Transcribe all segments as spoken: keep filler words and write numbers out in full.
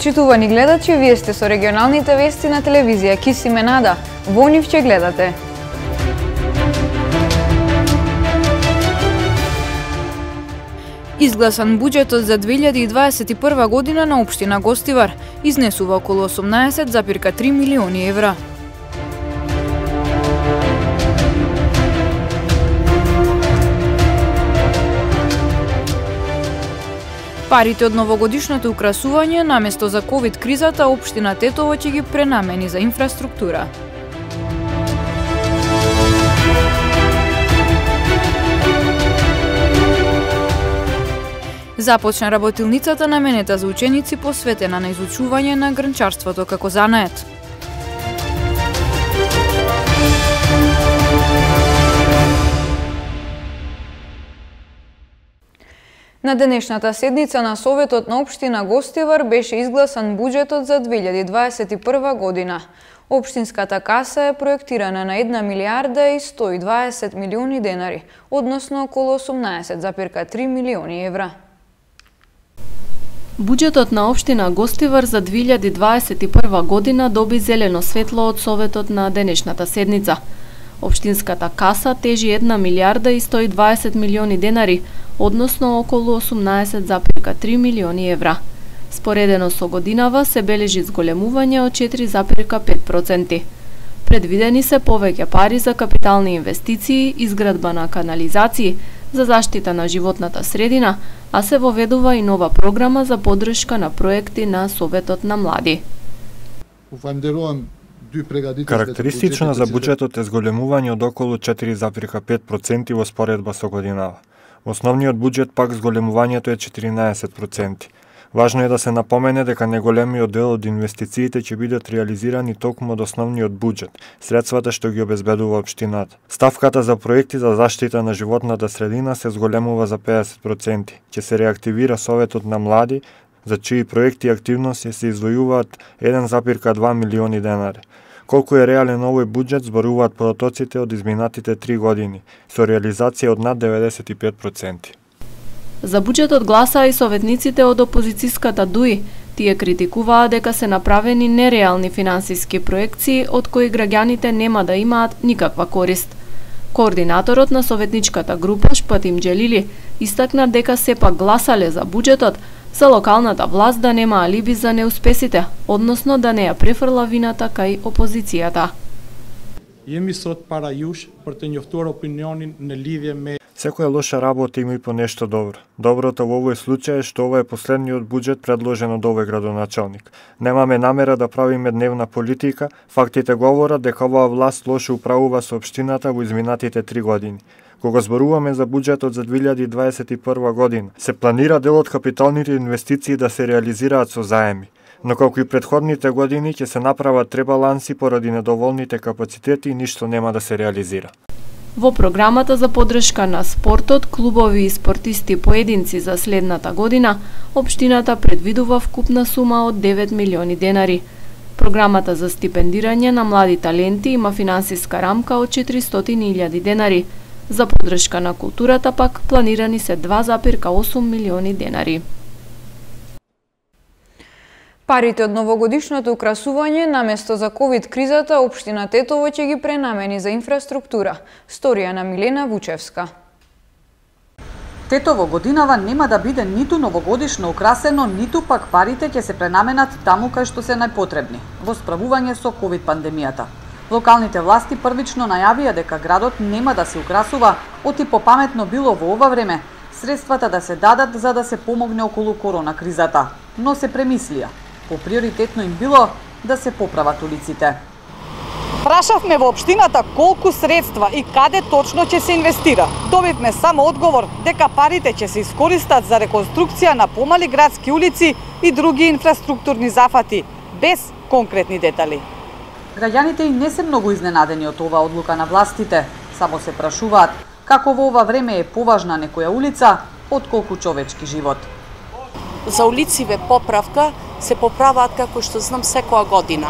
Почитувани гледачи, вие сте со регионалните вести на телевизија Кисиме Нада. Во нив ќе гледате. Изгласан буџетот за две илјади и дваесет и прва година на општина Гостивар изнесува околу осумнаесет запирка три милиони евра. Парите од новогодишното украсување наместо за ковид кризата општина Тетово ќе ги пренамени за инфраструктура. Започна работилницата наменета за ученици посветена на изучување на грнчарството како занает. На денешната седница на Советот на општина Гостивар беше изгласан буџетот за две илјади дваесет и прва година. Општинската каса е проектирана на една милијарда и сто и дваесет милиони денари, односно околу осумнаесет запирка три милиони евра. Буџетот на општина Гостивар за две илјади дваесет и прва година доби зелено светло од Советот на денешната седница. Општинската каса тежи една милијарда и сто и дваесет милиони денари, односно околу осумнаесет запирка три милиони евра. Споредено со годинава се бележи зголемување од четири запирка пет проценти. Предвидени се повеќе пари за капитални инвестиции, изградба на канализации, за заштита на животната средина, а се воведува и нова програма за поддршка на проекти на Советот на млади. Карактеристично за буџетот е зголемување од околу четири запирка пет проценти во споредба со годинава. Основниот буџет пак зголемувањето е четиринаесет проценти. Важно е да се напомене дека неголемиот дел од инвестициите ќе бидат реализирани токму од основниот буџет, средствата што ги обезбедува општината. Ставката за проекти за заштита на животната средина се зголемува за педесет проценти. Ќе се реактивира Советот на млади, за чии проекти и активности се издвојуваат еден запирка два милиони денари. Колку е реален овој буџет зборуваат податоците од изминатите три години, со реализација од над деветдесет и пет проценти. За буџетот гласаа и советниците од опозицијската ДУИ. Тие критикуваа дека се направени нереални финансиски проекции од кои граѓаните нема да имаат никаква корист. Координаторот на советничката група Шпатим Џелили истакна дека сепак гласале за буџетот, за локалната власт да нема алиби за неуспесите, односно да не ја префрла вината кај опозицијата. Jemi sot para jush për të njoftuar opinionin në lidhje me Секоја лоша работа има и по нешто добро. Доброто во овој случај е што ова е последниот буџет предложен од овој градоначалник. Немаме намера да правиме дневна политика, фактите говорат дека оваа власт лошо управува со општината во изминатите три години. Кога зборуваме за буџетот за две илјади дваесет и прва година, се планира дел од капиталните инвестиции да се реализираат со заеми. Но колку и предходните години ќе се направат ребаланси поради недоволните капацитети и ништо нема да се реализира. Во програмата за поддршка на спортот, клубови и спортисти поединци за следната година, општината предвидува вкупна сума од девет милиони денари. Програмата за стипендирање на млади таленти има финансиска рамка од четиристотини илјади денари. За поддршка на културата пак планирани се два запирка осум милиони денари. Парите од новогодишното украсување наместо за ковид кризата општина Тетово ќе ги пренамени за инфраструктура. Сторија на Милена Вучевска. Тетово годинава нема да биде ниту новогодишно украсено, ниту пак парите ќе се пренаменат таму кај што се најпотребни, во справување со ковид пандемијата. Локалните власти првично најавија дека градот нема да се украсува, оти попаметно било во ова време средствата да се дадат за да се помогне околу корона кризата, но се премислија. Поприоритетно им било да се поправат улиците. Прашавме во општината колку средства и каде точно ќе се инвестира. Добивме само одговор дека парите ќе се искористат за реконструкција на помали градски улици и други инфраструктурни зафати, без конкретни детали. Граѓаните и не се многу изненадени од оваа одлука на властите, само се прашуваат како во ова време е поважна некоја улица отколку човечки живот. За улициве поправка се поправаат како што знам секоја година.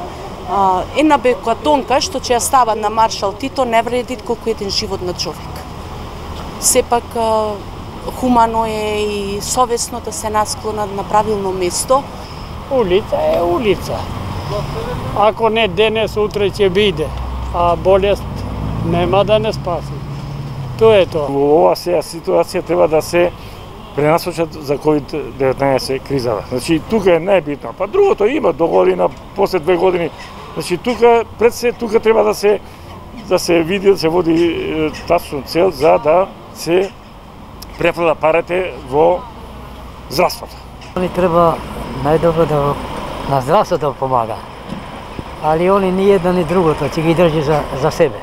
Една бекатонка што ќе ја стават на Маршал Тито не вреди колку еден живот на човек. Сепак хумано е и совесно да се насклонат на правилно место Улица е улица. Ако не денес, утре ќе биде, а болест нема да не спаси. Тоа е тоа. Во ова сега ситуација треба да се пренасочат за ковид деветнаесет кризата. Значи тука е најбитно. Па другото има до година, после две години. Значи тука пред се тука треба да се да се види, да се води тачно цел за да се префрла парите во здравството. Они треба најдобро да на здравството помага. Али они ни едно ни другото ќе ги држи за за себе.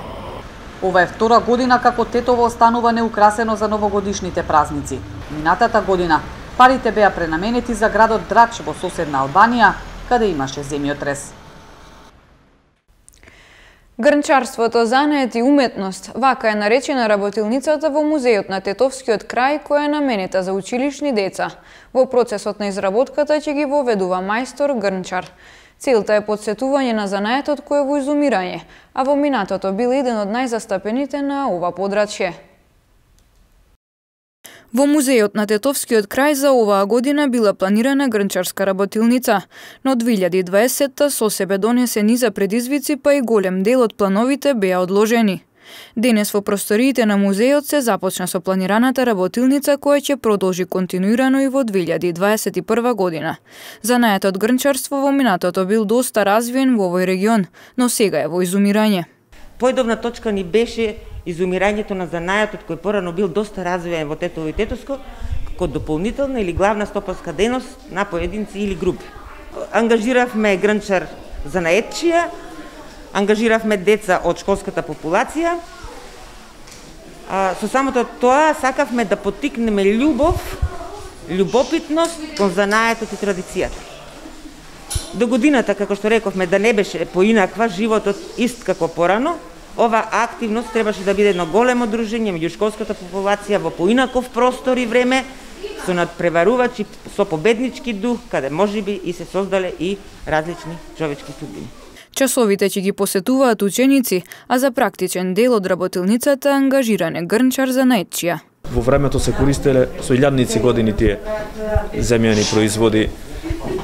Ова е втора година како Тетово останува неукрасено за новогодишните празници. Минатата година парите беа пренаменети за градот Драч во соседна Албанија, каде имаше земјотрес. Грнчарството, занает и уметност, вака е наречена работилницата во музејот на Тетовскиот крај, која е наменета за училишни деца. Во процесот на изработката ќе ги воведува мајстор грнчар. Целта е подсетување на занаетот кој е во изумирање, а во минатото бил еден од најзастапените на ова подрачје. Во музејот на Тетовскиот крај за оваа година била планирана грнчарска работилница, но две илјади и дваесетта со себе донесе низа предизвици, па и голем дел од плановите беа одложени. Денес во просториите на музејот се започна со планираната работилница која ќе продолжи континуирано и во две илјади и дваесет и прва година. Занаетот грнчарство во минатото бил доста развиен во овој регион, но сега е во изумирање. Поедобна точка ни беше изумирањето на занајатот кој порано бил доста развиен во Тетово и Тетовско, како дополнителна или главна стопанска дејност на поединци или групи. Ангажиравме грнчар занаетчија, ангажиравме деца од школската популација. А, со самото тоа сакавме да поттикнеме љубов, љубопитност кон занаетот и традицијата. До годината, како што рековме, да не беше поинаква, животот ист како порано, ова активност требаше да биде едно големо дружење меѓу школската популација во поинаков простор и време, со надпреварувачи, со победнички дух, каде можеби и се создале и различни човечки судбини. Часовите ќе ги посетуваат ученици, а за практичен дел од работилницата ангажиран е грнчар занаетчија. Во времето се користеле со илјадници години тие земјани производи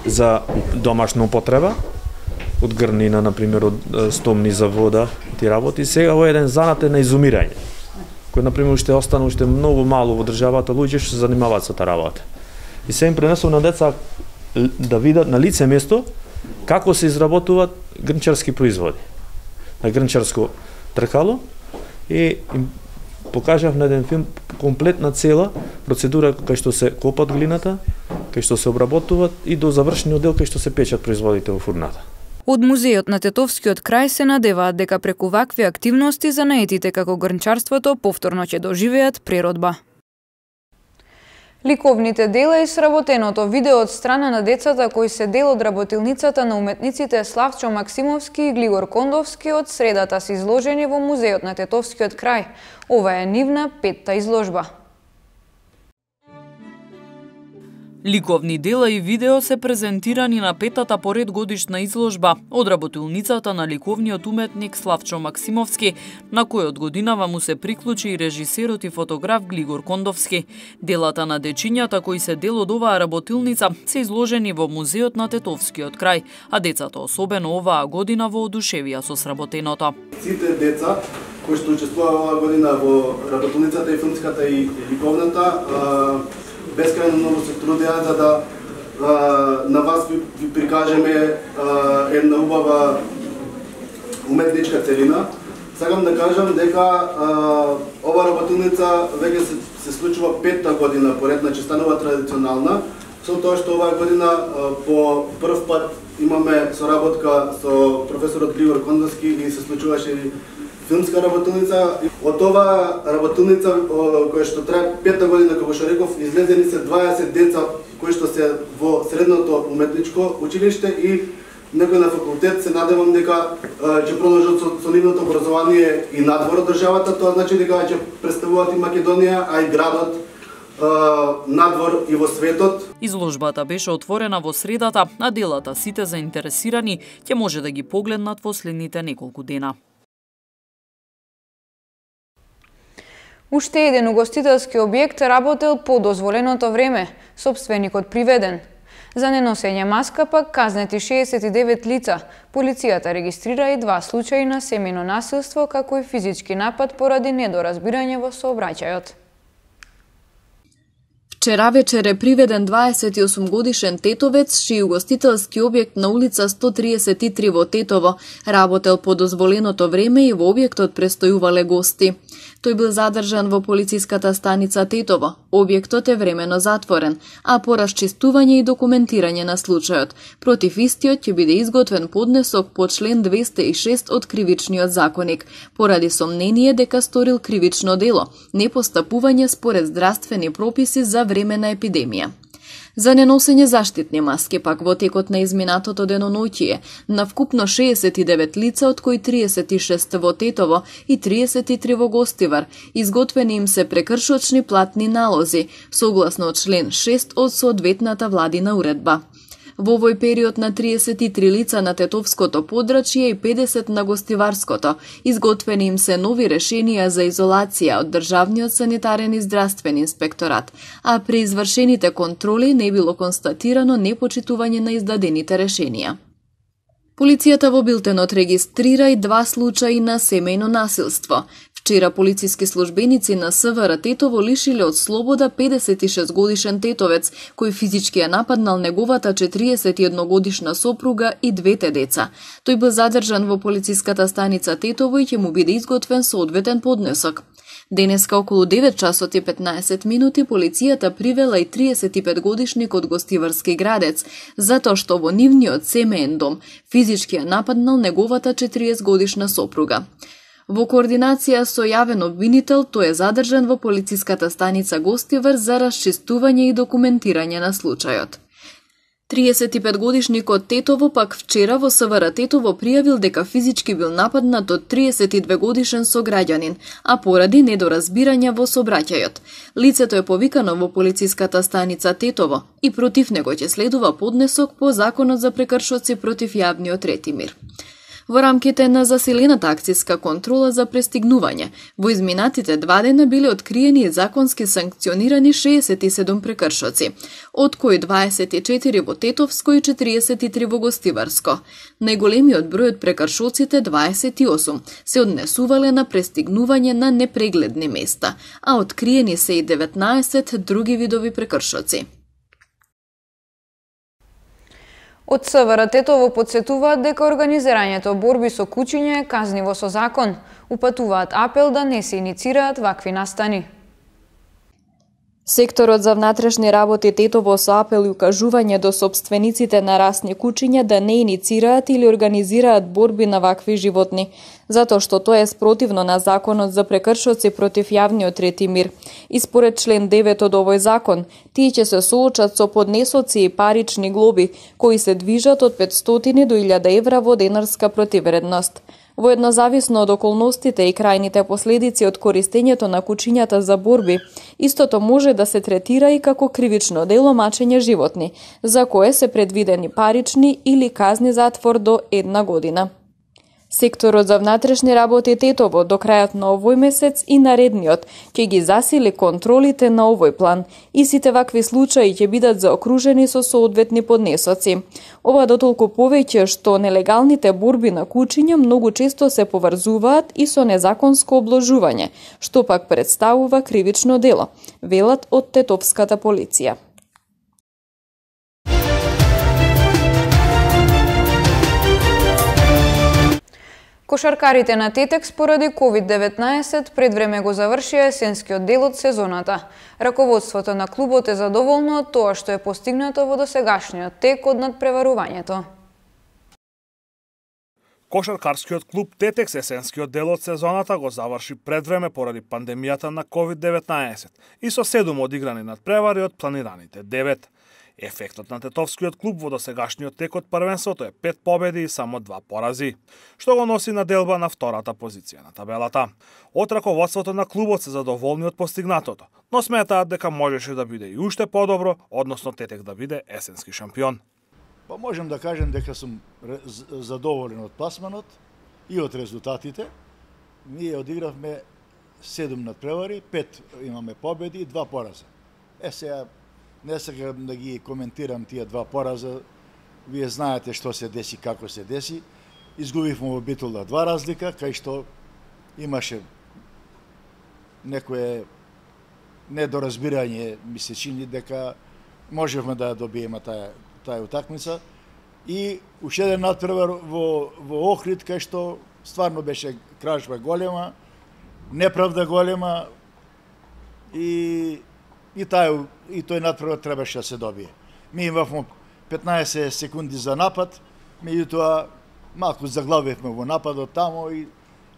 за домашна употреба, од грнина, например, од стомни за вода, ти работи. Сега во еден занат е на изумирање, кој, например, уште остана уште многу мало во државата луѓе што се занимаваат со таа работа. И се им пренесов на деца да видат на лице место како се изработуваат грнчарски производи. На грнчарско тркало и им покажав на еден филм комплетна цела процедура кај што се копат глината, кај што се обработуваат и до завршениот дел кај што се печат производите во фурната. Од музејот на Тетовскиот крај се надеваат дека преку вакви активности занаетите како грнчарството повторно ќе доживеат преродба. Ликовните дела и сработеното видео од страна на децата кои се дел од работилницата на уметниците Славчо Максимовски и Глигор Кондовски од средата се изложени во музејот на Тетовскиот крај. Ова е нивна петта изложба. Ликовни дела и видео се презентирани на петата поред годишна изложба од работилницата на ликовниот уметник Славчо Максимовски, на кој од годинава му се приклучи и режисерот и фотограф Глигор Кондовски. Делата на дечињата кои се дел од оваа работилница се изложени во музејот на Тетовскиот крај, а децата особено оваа година во одушевија со сработеното. Сите деца кои што учествуваа оваа година во работилницата и филмската и ликовната бескрајно многу се трудеа за да а, на вас ви, ви прикажеме а, една убава уметничка целина. Сакам да кажам дека а, ова работилница веќе се, се случува петта година поред, значи станува традиционална, со тоа што оваа година а, по прв пат имаме соработка со професорот Глигор Кондовски и се случуваше филмска работилница. Од ова работилница која што трае петта година, како што реков, излезени се дваесет деца кои што се во средното уметничко училиште и некои на факултет. Се надевам дека ќе продолжат со, со нивното образование и надвор од државата. Тоа значи дека ќе представуваат и Македонија, а и градот надвор и во светот. Изложбата беше отворена во средата, а делата сите заинтересирани ќе може да ги погледнат во следните неколку дена. Уште еден угостителски објект работел по дозволеното време, сопственикот приведен. За неносење маска пак казнети шеесет и девет лица. Полицијата регистрира и два случаи на семејно насилство, како и физички напад поради недоразбирање во сообраќајот. Вчера вечер е приведен дваесет и осум годишен тетовец, чиј угостителски објект на улица сто триесет и три во Тетово работел по дозволеното време и во објектот престојувале гости. Тој бил задржан во полициската станица Тетово. Објектот е времено затворен, а по расчистување и документирање на случајот, против истиот ќе биде изготвен поднесок по член двесте и шест од Кривичниот законик, поради сомнение дека сторил кривично дело, непостапување според здравствени прописи за време на епидемија. За неносење заштитни маски пак во текот на изминатото деноноќие на вкупно шеесет и девет лица, од кои триесет и шест во Тетово и триесет и три во Гостивар, изготвени им се прекршочни платни налози, согласно член шест од соодветната владина уредба. Во овој период на триесет и три лица на Тетовското подрачје и педесет на Гостиварското, изготвени им се нови решенија за изолација од Државниот санитарен и здравствен инспекторат, а при извршените контроли не било констатирано непочитување на издадените решенија. Полицијата во билтенот регистрира и два случаи на семејно насилство. Вчера полициски службеници на СВР Тетово лишиле од слобода педесет и шест годишен тетовец, кој физички ја нападнал неговата четириесет и една годишна сопруга и двете деца. Тој бил задржан во полициската станица Тетово и ќе му биде изготвен соодветен поднесок. Денеска околу девет часот и петнаесет минути полицијата привела и триесет и пет годишник од Гостиварски Градец, затоа што во нивниот семеен дом физички ја нападнал неговата четириесет годишна сопруга. Во координација со јавен обвинител, тој е задржан во полициската станица Гостивар за расчистување и документирање на случајот. триесет и пет годишникот Тетово пак вчера во СВР Тетово пријавил дека физички бил нападнат од триесет и две годишен сограѓанин, а поради недоразбирање во сообраќајот. Лицето е повикано во полициската станица Тетово и против него ќе следува поднесок по Законот за прекршоци против јавниот ред и мир. Во рамките на засилената акцијска контрола за престигнување, во изминатите два дена биле откриени и законски санкционирани шеесет и седум прекршоци, од кои дваесет и четири во Тетовско и четириесет и три во Гостиварско. Најголемиот број од прекршоците, дваесет и осум, се однесувале на престигнување на непрегледни места, а откриени се и деветнаесет други видови прекршоци. Од СВР Тетово подсетуваат дека организирањето борби со кучиња е казниво со закон. Упатуваат апел да не се иницираат вакви настани. Секторот за внатрешни работи Тетово со апел и укажување до сопствениците на расни кучиња да не иницираат или организираат борби на вакви животни, затоа што тоа е спротивно на Законот за прекршоци против јавниот ред и мир. И според член девет од овој закон, тие ќе се соочат со поднесоци и парични глоби, кои се движат од петстотини до илјада евра во денарска противредност. Воедно зависно од околностите и крајните последици од користењето на кучињата за борби, истото може да се третира и како кривично дело мачење животни, за кое се предвидени парични или казни затвор до една година. Секторот за внатрешни работи Тетово до крајот на овој месец и наредниот ќе ги засили контролите на овој план и сите вакви случаи ќе бидат заокружени со соодветни поднесоци. Ова дотолку повеќе што нелегалните борби на кучиња многу често се поврзуваат и со незаконско обложување, што пак представува кривично дело, велат од Тетовската полиција. Кошаркарите на Тетекс поради ковид деветнаесет предвреме го завршија есенскиот дел од сезоната. Раководството на клубот е задоволно од тоа што е постигнато во досегашниот тек од надпреварувањето. Кошаркарскиот клуб Тетекс есенскиот дел од сезоната го заврши предвреме поради пандемијата на ковид деветнаесет и со седум одиграни надпревари од планираните девет. Ефектот на Тетовскиот клуб во досегашниот тек од првенството е пет победи и само два порази, што го носи на делба на втората позиција на табелата. Од раководството на клубот се задоволни од постигнатото, но сметаат дека можеше да биде и уште подобро, односно Тетек да биде есенски шампион. Па можем да кажем дека сум задоволен од пласманот и од резултатите. Ние одигравме седум надпревари, пет имаме победи и два пораза. Е сега Не сакам да ги коментирам тие два пораза. Вие знаете што се деси, како се деси. Изгубивме во Битола два разлика, кај што имаше некое недоразбирање, ми се чини дека можевме да ја добиеме таа таа утакмица. И уште еден натпревар во во Охрид, кај што стварно беше кражба голема, неправда голема и и тај и тој натпревар требаше да се добие. Ми имавме петнаесет секунди за напад, меѓутоа малку заглавивме во нападот тамо и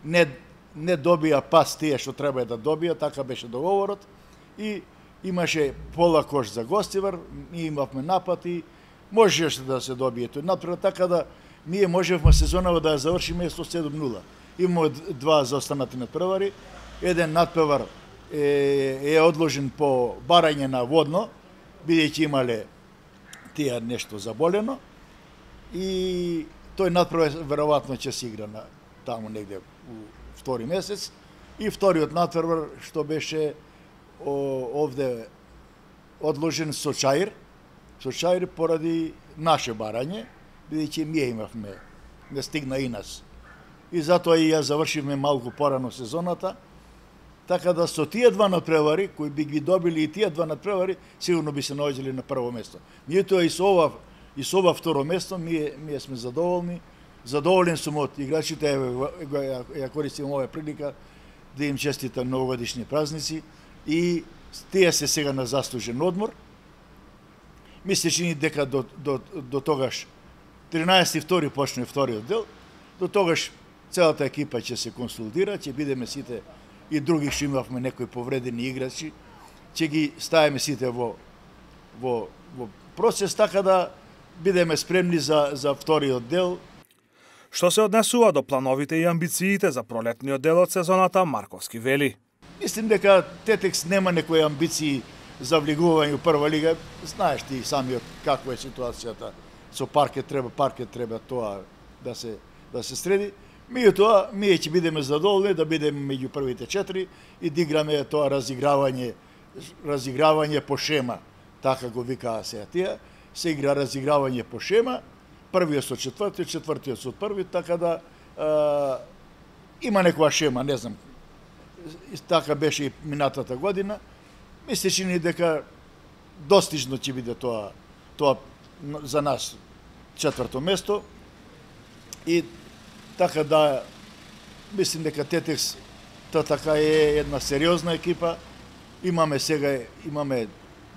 не не добија пас тие што треба да добија, така беше договорот и имаше пола кош за Гостивар, ми имавме напад и можеше да се добие тој натпревар, така да ние можевме сезонава да ја завршиме со седум нула. Имаме два заостанати натпревари, еден натпревар е, е одложен по барање на водно, бидејќи имале тие нешто заболено и тој натпревар веројатно ќе се игра на таму негде у втори месец и вториот натпревар што беше о, овде одложен со Чаир, со Чаир поради наше барање, бидејќи ние имавме, не стигна и нас. И затоа и ја завршивме малку порано сезоната, така да со тие два натпревари, кои би ги добили и тие два натпревари, сигурно би се наоѓали на прво место. Меѓутоа и со ова и со ова второ место ние ние сме задоволни. Задоволен сум од играчите, ја, ја користим оваа прилика да им честитам новогодишни празници и тие се сега на заслужен одмор. Ми се чини дека до, до, до тогаш тринаесети втори почне вториот дел, до тогаш целата екипа ќе се консултира, ќе бидеме сите и други што имавме некои повредени играчи, ќе ги ставиме сите во во во процес, така да бидеме спремни за за вториот дел. Што се однесува до плановите и амбициите за пролетниот дел од сезоната, Марковски вели: Мислим дека Тетекс нема некои амбиции за влегување у прва лига. Знаеш ти самиот каква е ситуацијата со паркет, треба паркет треба тоа да се да се среди. Меѓутоа, ние ќе бидеме задоволни да бидеме меѓу првите четири и да играме тоа разигравање разигравање по шема, така го викаа сега тие. Се игра разигравање по шема, првиот со четвртиот, четвртиот со први, така да е, има некоја шема, не знам. Така беше и минатата година. Ми се чини дека достижно ќе биде тоа тоа за нас четврто место и така да мислим дека Тетекс та така е една сериозна екипа. Имаме сега имаме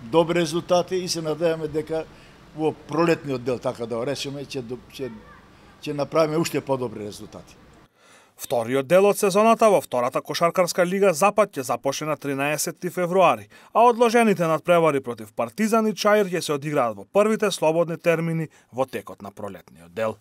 добри резултати и се надеваме дека во пролетниот дел, така да решиме, ќе ќе ќе направиме уште подобри резултати. Вториот дел од сезоната во втората кошаркарска лига Запад ќе започне на тринаесети февруари, а одложените надпревари против Партизан и Чаир ќе се одиграат во првите слободни термини во текот на пролетниот дел.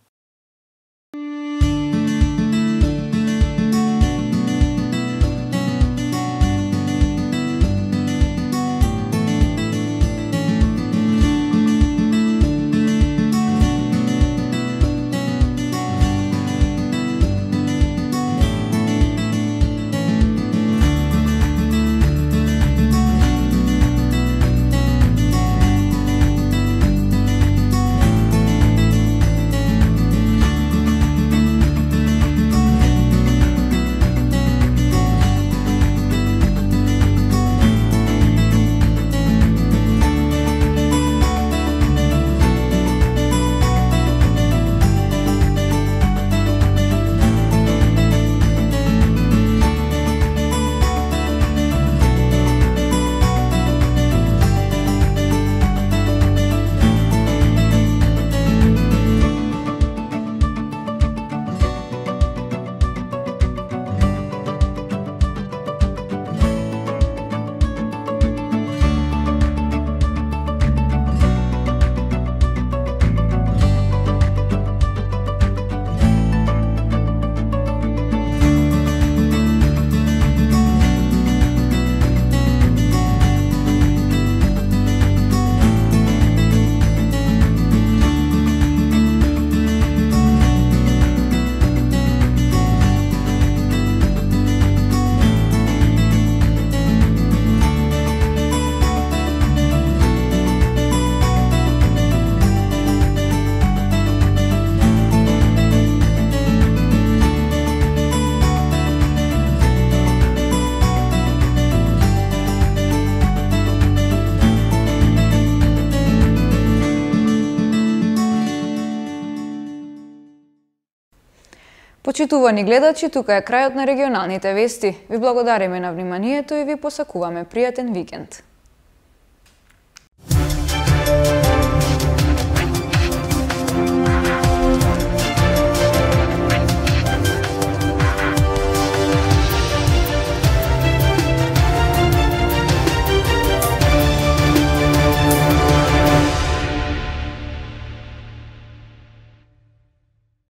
Почитувани гледачи, тука е крајот на регионалните вести. Ви благодариме на вниманието и ви посакуваме пријатен викенд.